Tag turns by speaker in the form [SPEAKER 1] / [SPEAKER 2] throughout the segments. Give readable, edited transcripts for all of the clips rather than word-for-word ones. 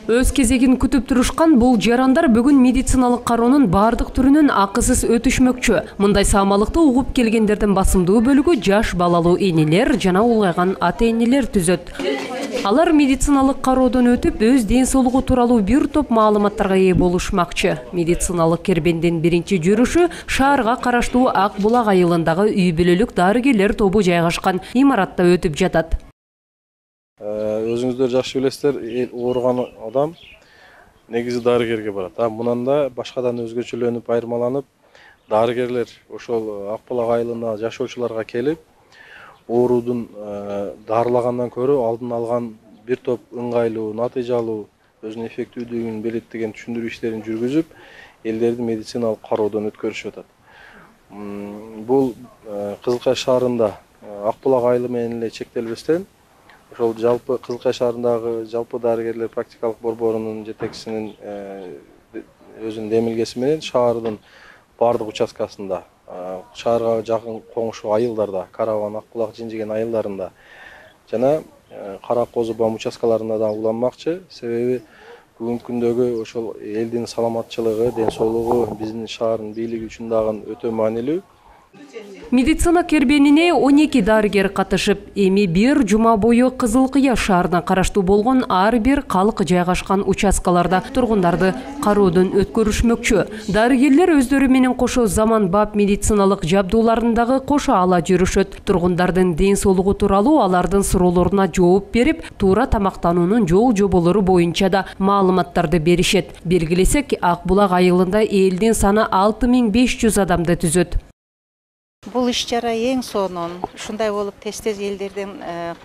[SPEAKER 1] Өз кезегин күтүп турушкан бул жарандар бүгүн медициналык кароонун бардык түрүнөн акысыз өтүшмөкчү. Мындай саамалыкты угуп келгендердин басымдуу бөлүгү жаш балалуу энелер жана улгайган ата-энелер түзөт. Алар медициналык кароодон өтүп, өз ден соолугу тууралуу бир топ маалыматтарга ээ болушмакчы. Медициналык кербендин биринчи жүрүшү шаарга караштуу Ак булак айылындагы үй бүлөлүк дарыгерлер тобу жайгашкан имаратта өтүп жатат.
[SPEAKER 2] Өзүңүздөр жакшы билесиздер, ооруган адам негизи дарыгерге барат. Мунан да башкадан өзгөчөлөнүп, айырмаланып, дарыгерлер ошол Ак булак айылына жашоочуларга келип, оорудун дарылагандан көрө алдын алган бир топ ыңгайлуу, натыйжалуу, өзүнүн эффективдүүлүгүн белгилеген түшүндүрүү иштерин жүргүзүп, элдерди медициналык кароодон өткөрүшүп атат. Бул Кызылкай шаарында Ак булак айылы менен эле чектелбестен, ошол жалпы Кызылкай шаарындагы жалпы дарыгерлер практикалык борборунун жетекчисинин өзүнүн демилгеси менен шаардын бардык участкасында, шаарга жакын коңшу айылдарда, Карабан, Ак булак, Жинжиген айылдарында жана Кара Козу Бам участкаларында да уланмакчы. Себеби бүгүнкү күндөгү ошол элдин саламатчылыгы, ден соолугу биздин шаардын бийлиги үчүн дагы өтө маанилүү.
[SPEAKER 1] Медицина кербенине 12 дарыгер катышып, эми бир жума бою Кызылкыя шаарына караштуу болгон ар бир калк жайгашкан участкаларда тургундарды кароодон өткөрүшмөкчү. Дарыгерлер өздөрү менен кошо заманбап медициналык жабдууларындагы кошо ала жүрүшөт. Тургундардын ден соолугу тууралуу алардын суроолоруна жооп берип, туура тамактануунун жол жоболору боюнча да маалыматтарды беришет. Белгилесек, Ак булак айылында элдин саны 6500 адамды түзөт.
[SPEAKER 3] Бул иш чара эң сонун ушундай болуп тез-тез элдерден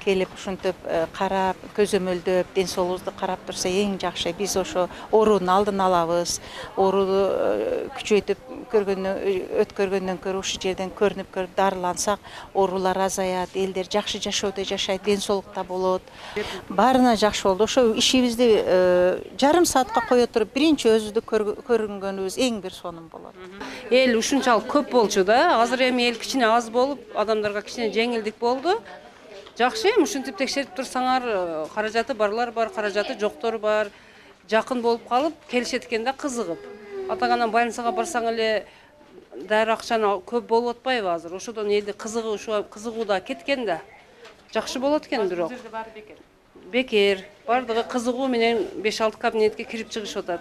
[SPEAKER 3] келип ушинтип карап, көзөмөлдөп, ден соолугубузду карап турса эң жакшы. Биз ошо оорунун алдын алабыз. Ооруну күчөйтүп өткөргөндөн көрө ушул жерден көрүнүп дарылансак, оорулар азаят, элдер жакшы жашоодо жашайт, ден соолукта болот. Баарына жакшы болду. Ошо ишибизди жарым саатка кое туруп, биринчи өзүбүздү көрүнгөнүбүз эң бир сонун болот.
[SPEAKER 4] Эл ушунчалык көп болчу да. Азыр эми эл кичине аз болуп, адамдарга кичине жеңилдик болду. Жакшы, ушинтип текшерип турсаңар, каражаты барлар бар, каражаты жоктор бар. Жакын болуп калып, келишет экен да кызыгып. Атаганан больницага барсаң эле дары акчаны көп болуп атпайбы азыр? Ошодон элди кызыгууда кеткен да. Жакшы болот экен бирок. Бекер. Бардыгы кызыгуу менен 5-6 кабинетке кирип чыгышып атат.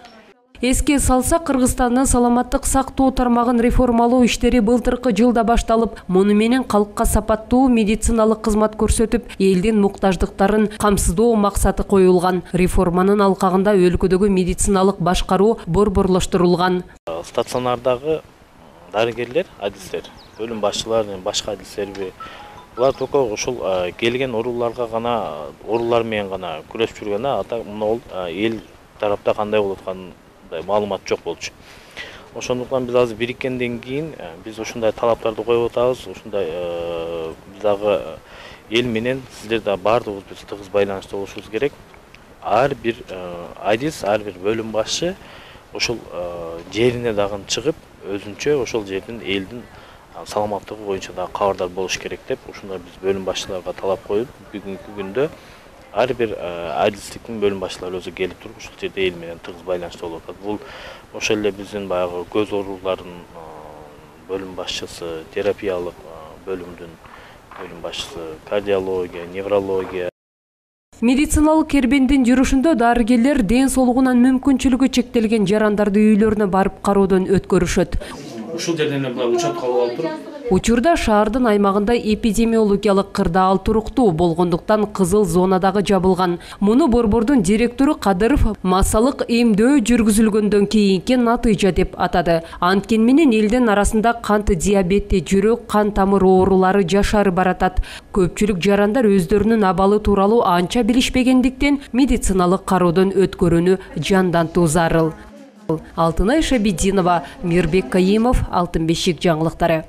[SPEAKER 1] Эске салса, Кыргызстандын саламаттык сактоо тармагын реформалоо иштери былтыркы жылда башталып, муну менен калкка сапаттуу медициналык кызмат көрсөтүп, элдин муктаждыктарын камсыздоо максаты коюлган. Реформанын алкагында өлкөдөгү медициналык башкаруу борборлоштурулган.
[SPEAKER 5] Стационардагы дарыгерлер, адистер, бөлүм башчылары менен башка адистерби, булар только ошол келген оорулар менен гана күрөшүп жүргөн, ата мына эл тарапта кандай болуп атканын маалымат жок болчу. Ошондуктан биз азыр бириккенден кийин биз ушундай талаптарды коюп атабыз. Ушундай биз дагы эл менен сиздер да бардыгыбыз биз тыгыз байланышта болушубуз керек. Ар бир адис, ар бир бөлүм башчы ошол жерине дагы чыгып, өзүнчө ошол жердин элдин саламаттыгы боюнча да кабардар болуш керек деп ушундай биз бөлүм башчыларга талап коюп, бүгүнкү күндө ар бир адистиктин бөлүм башчылары өзү келип туруп ушул жерде эл менен тыгыз байланышта болуп атат. Бул ошол эле биздин баягы көз ооруларынын бөлүм башчысы, терапиялык бөлүмдүн бөлүм башчысы, кардиология, неврология.
[SPEAKER 1] Медициналык кербендин жүрүшүндө дарыгерлер ден соолугунан мүмкүнчүлүгү чектелген жарандарды үйлөрүнө барып кароодон өткөрүшөт.
[SPEAKER 6] Ушул жерден эле учетка алып туруп.
[SPEAKER 1] Учурда шаардын аймагында эпидемиологиялык кырдаал туруктуу болгондуктан кызыл зонадагы жабылган. Муну борбордун директору Кадыров массалык эмдөө жүргүзүлгөндөн кийинки натыйжа деп атады. Анткени менен элдин арасында кант диабети, жүрөк, кан тамыр оорулары жашары баратат. Көпчүлүк жарандар өздөрүнүн абалы тууралуу анча билишпегендиктен медициналык кароодон өткөрүүнү жандантуу зарыл. Алтынай Шабидинова, Мирбек Каимов, Алтын бешик жаңылыктары.